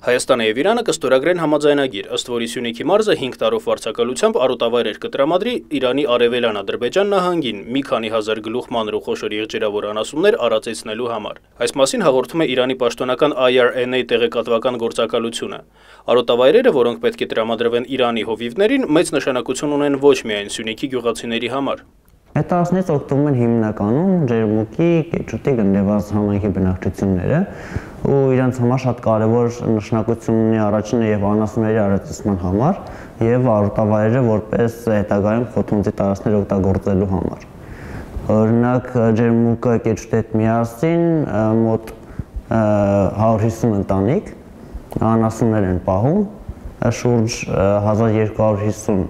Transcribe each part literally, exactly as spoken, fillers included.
Հայաստանը եւ Իրանը կստորագրեն համաձայնագիր, ըստ որի Սյունիքի մարզը հինգ տարով վարձակալությամբ արոտավայրեր կտրամադրի Իրանի արևելյան Ադրբեջան նահանգին մի քանի հազար գլուխ մանր ու խոշոր եղջերավոր անասուններ արածեցնելու համար։ Այս մասին հաղորդում է Իրանի պաշտոնական I R N A տեղեկատվական գործակալությունը։ Արոտավայրերը, որոնք պետք է տրամադրվեն Իրանի հովիվներին, մեծ նշանակություն ունեն ոչ միայն Սյունիքի գյուղացիների համար։ Այդ տարածքներից օգտվում են հիմնականում ջերմուկի, կեչուտի, գնդեվազ համայնքի բնակչությունները ու իրենց համար շատ կարևոր նշանակություն ունի առաջինը եւ անասունների արածեցման համար եւ արոտավայրերը որպես հետագայում խոթունձի տարածքներ օգտագործելու համար։ Օրինակ ջերմուկը կեչուտի հետ միասին մոտ հարյուր հիսուն ընտանիք անասուններ են պահում, շուրջ հազար երկու հարյուր հիսուն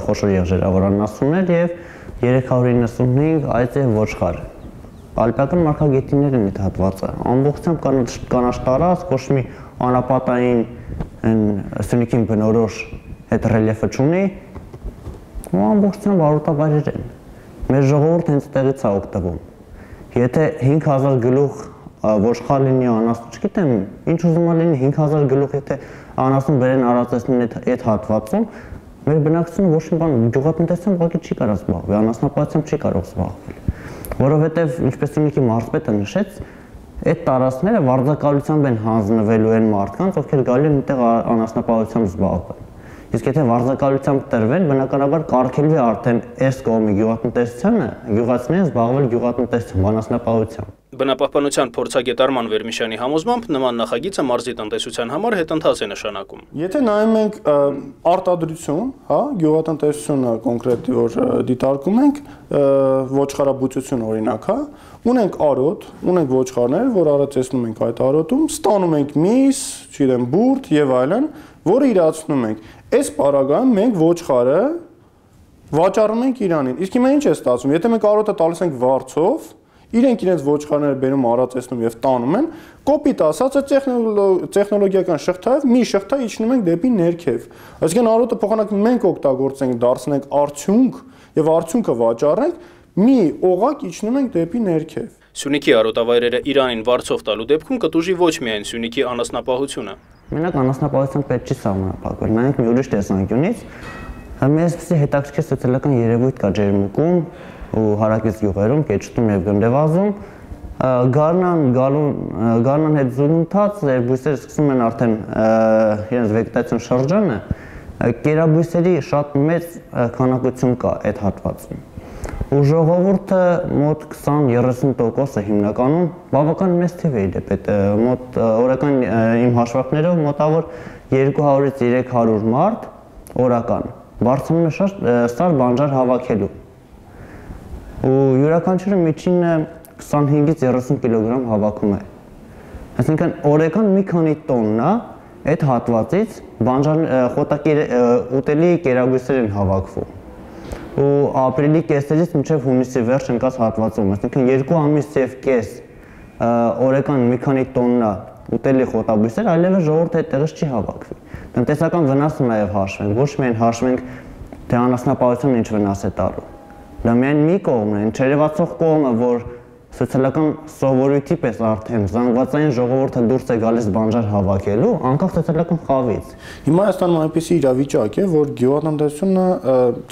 խոշոր եղջերավոր անասուններ եւ երեք հարյուր իննսունհինգ այծ եւ ոչխար։ Ալպիական մարգագետիններ են այդ հատվածը։ Ամբողջությամբ կանաչ տարածք, ոչ մի անապատային Սյունիքին բնորոշ հետ ռելիեֆը չունի, ու ամբողջությամբ արոտավայրեր են։ Մեր ժողովուրդը հենց տեղից է օգտվում։ Եթե հինգ հազար գլուխ ոչխար լինի, անասուն, չգիտեմ, ինչ ուզում է լինի, հինգ հազար գլուխ եթե անասուն բերեն արածեցնեն այդ հատվածում, մեր բնակչությունը ոչ մի բան գյուղատնտեսությամբ ուղղակի չի կարող զբաղվել, անասնապահությամբ չի կարող զբաղվել, որովհետև ինչպես Սյունիքի մարզպետը նշեց, այդ տարածքները վարձակալությամբ են հանձնվելու են մարդկանց, ովքեր գալի են այդտեղ անասնապահությամբ զբաղվել։ Իսկ եթե վարձակալությամբ տրվեն, բնականաբար կարգելվի արդեն այս կողմի գյուղատնտեսությանը, գյուղացիներին զբաղվել գյուղատնտեսությամբ, անասնապահությամբ։ Բնապահպանության փորձագետ Արման Վերմիշյանի համոզմամբ նման նախագիծը մարզի տնտեսության համար հետընթաց է նշանակում։ Եթե նայում ենք արտադրություն, հա, գյուղատնտեսությունը կոնկրետ որ դիտարկում ենք, ոչխարաբուծություն օրինակ, հա, ունենք արոտ, ունենք ոչխարներ, որ արածեցնում ենք այդ արոտում, ստանում ենք միս, չգիտեմ, բուրդ եւ այլն, որը իրացնում ենք։ Այս պարագայում մենք ոչխարը վաճառում ենք Իրանին։ Իսկ հիմա ինչ է ստացվում, եթե մենք արոտը տալիս ենք վարձով, իրենք իրենց ոչխարները բերում արածեցնում եւ տանում են, կոպիտ ասած է տեխնոլոգիական շղթայով մի շղթա իջնում ենք դեպի ներքև։ Այսինքն արոտը փոխանակ մենք օգտագործենք, դարձնենք արդյունք եւ արդյունքը վաճառենք, մի օղակ իջնում ենք դեպի ներքև։ Սյունիքի արոտավայրերը Իրանին վարձով տալու դեպքում կտուժի ոչ միայն Սյունիքի անասնապահությունը։ Մենակ անասնապահությամբ պետք չի սահմանափակվել, նայենք մի ուրիշ տեսանկյունից, այսպիսի հետաքրքիր սոցիալական երևույթ կա ջերմուկում ու հարակից գյուղերում, կեչուտում եւ գնդեվազում, գարնան գարնան հետ զուգընթաց բույսերը սկսում են արդեն իրենց վեգետացիոն շրջանը, կերաբույսերի շատ մեծ քանակություն կա այդ հատվածում։ Ու ժողովուրդը մոտ քսան երեսուն տոկոսը հիմնականում բավական մեծ թիվ է դեպետ մոտ օրական իմ հաշվարկներով մոտավոր երկու հարյուրից երեք հարյուր մարդ օրական բարձրանում է շատ սար բանջար հավաքելու ու յուրաքանչյուրը միջինը քսանհինգից երեսուն կիլոգրամ հավաքում է, այսինքն օրական մի քանի տոննա այդ հատվածից բանջար խոտակի ուտելի կերաբույսեր են հավաքվում ու ապրիլի կեսերից մինչև հունիսի վերջ ընկած հատվածում, այսինքն երկու ամիս եւ կես օրական մի քանի տոննա ուտելի խոտաբույսեր այլևս ժողովուրդը այդտեղից չի հավաքվի։ Տնտեսական վնասը նաեւ հաշվենք, ոչ միայն հաշվենք թե անասնապահությունը ինչ վնաս է տալու։ Դա միայն մի կողմն է, չերևացող կողմը, որ սոցիալական սովորույթի պես արդեն զանգվածային ժողովուրդը դուրս է գալիս բանջար հավաքելու, անկախ սոցիալական խավից։ Հիմա Հայաստանում այնպիսի իրավիճակ է, որ գյուղատնտեսությունը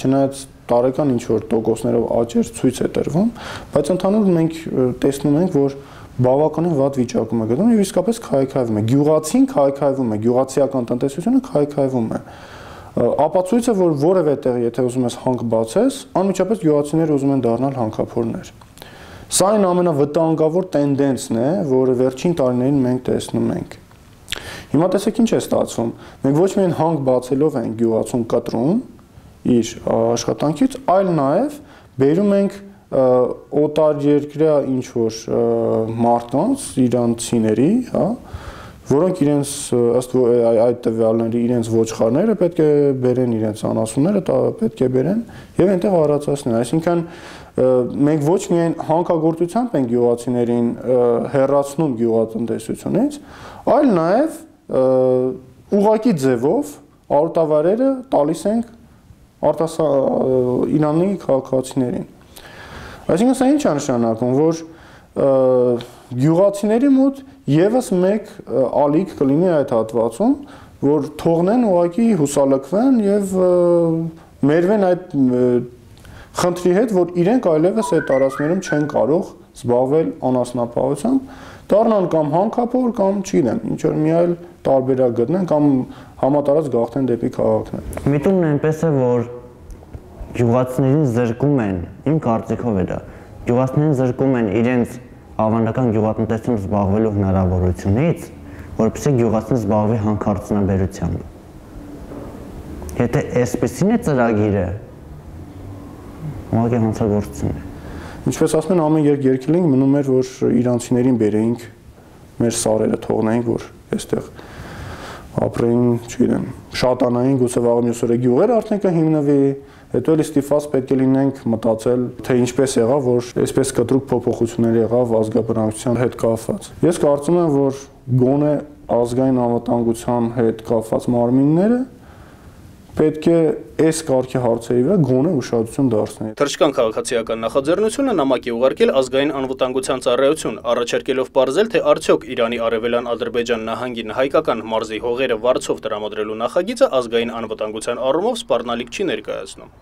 չնայած տարեկան ինչ-որ տոկոսներով աճեր ցույց է տրվում, բայց ընդհանուր մենք տեսնում ենք, որ բավականին վատ վիճակում է գտնվում եւ իսկապես քայքայվում է։ Գյուղացին քայքայվում է, գյուղացիական տնտեսությունը քայքայվում է։ Ապացույցը, որ որևէ տեղ, եթե ուզում ես հանք բացես, անմիջապես գյուղացիները ուզում են դառնալ հանքափորներ։ Սա այն ամենավտանգավոր տենդենսն է, որը վերջին տարիներին մենք տեսնում ենք։ Հիմա տեսեք ինչ է ստացվում։ Մենք ոչ միայն հանք բացելով ենք գյուղացուն կտրում իր աշխատանքից, այլ նաև բերում ենք օտար երկրյա ինչ-որ մարդկանց, իրանցիների, հա, որոնք իրենց ըստ այդ տվյալների իրենց ոչխարները պետք է բերեն, իրենց անասունները պետք է բերեն եւ այնտեղ արածացնեն։ Այսինքն մենք ոչ միայն հանքագործությամբ ենք գյուղացիներին հեռացնում գյուղատնտեսությունից, այլ նաև ուղղակի ձևով արոտավայրերը տալիս ենք արտասահ Իրանի քաղաքացիներին։ Այսինքն սա ինչ է նշանակում, որ գյուղացիների մոտ եւս մեկ ալիք կլինի այդ հատվածում, որ թողնեն ուղղակի հուսալքվեն եւ մերվեն այդ խնդրի հետ, որ իրենք այլևս այդ տարածքներում չեն կարող զբաղվել անասնապահությամբ, դառնան կամ հանքափոր կամ չգիտեմ, ինչ որ մի այլ տարբերակ գտնեն կամ համատարած գաղթեն դեպի քաղաքներ։ Միտումն այնպես է, որ գյուղացիներին զրկում են, իմ կարծիքով է դա, գյուղացիներին զրկում են իրենց ավանդական գյուղատնտեսությամբ զբաղվելու հնարավորությունից, որպեսզի գյուղացին զբաղվի հանքարդյունաբերությամբ։ Եթե այսպեսին է ծրագիրը, ուղղակի հանցագործություն է։ Ինչպես ասում են, ամեն երկ երկել ենք, մնում էր, որ իրանցիներին բերեինք, մեր սարերը թողնեինք, որ այստեղ ապրեին, չգիտեմ, շատանային, գուցե վաղը մյուս օրը գյուղեր արդեն կհիմնվի, հետո էլի ստիպված պետք է լինենք մտածել, թե ինչպես եղավ, որ այսպես կտրուկ փոփոխություններ եղավ ազգաբնակչության հետ կապված։ Ես կարծում եմ, որ գոնե ազգային անվտանգության հետ կապված մարմինները պետք է այս կարգի հարցերի վրա գոնե ուշադրություն դարձնել։ Թրջկան քաղաքացիական նախաձեռնությունը նամակ է ուղարկել ազգային անվտանգության ծառայություն, առաջարկելով պարզել, թե արդյոք Իրանի արևելյան Ադրբեջան նահանգին հայկական մարզի հողերը վարձով տրամադրելու նախագիծը ազգային անվտանգության առումով սպառնալիք չի ներկայացնում։